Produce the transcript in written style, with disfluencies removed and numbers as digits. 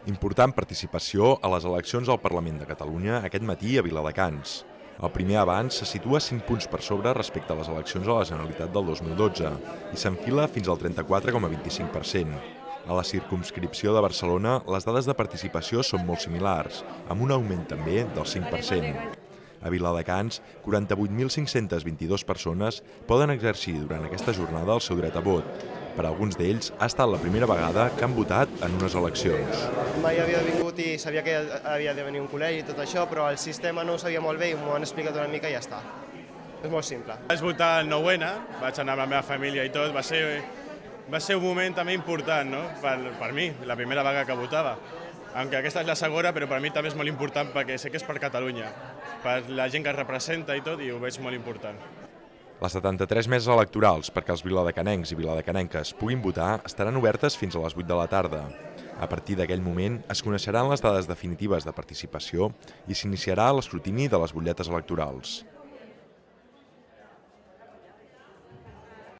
Important participació a les eleccions al Parlament de Catalunya aquest matí a Viladecans. El primer avanç se situa 5 punts per sobre respecte a les eleccions a la Generalitat del 2012 i s'enfila fins al 34,25%. A la circumscripció de Barcelona, les dades de participació són molt similars, amb un augment també del 5%. A Viladecans, 48.522 persones poden exercir durant aquesta jornada el seu dret a vot. Per a alguns d'ells ha estat la primera vegada que han votat en unes eleccions. Mai havia vingut i sabia que havia de venir un col·legi i tot això, però el sistema no ho sabia molt bé i m'ho han explicat una mica i ja està. És molt simple. Vaig votar el 9-N, vaig anar amb la meva família i tot, va ser un moment també important, no? per mi, la primera vegada que votava. Aunque aquesta és la segona, però per mi també és molt important perquè sé que és per Catalunya, per la gent que es representa i tot, i ho veig molt important. Les 73 meses electorals perquè els viladecanencs i viladecanenques puguin votar estaran obertes fins a les 8 de la tarda. A partir d'aquell moment es coneixeran les dades definitives de participació i s'iniciarà l'escrutini de les butlletes electorals.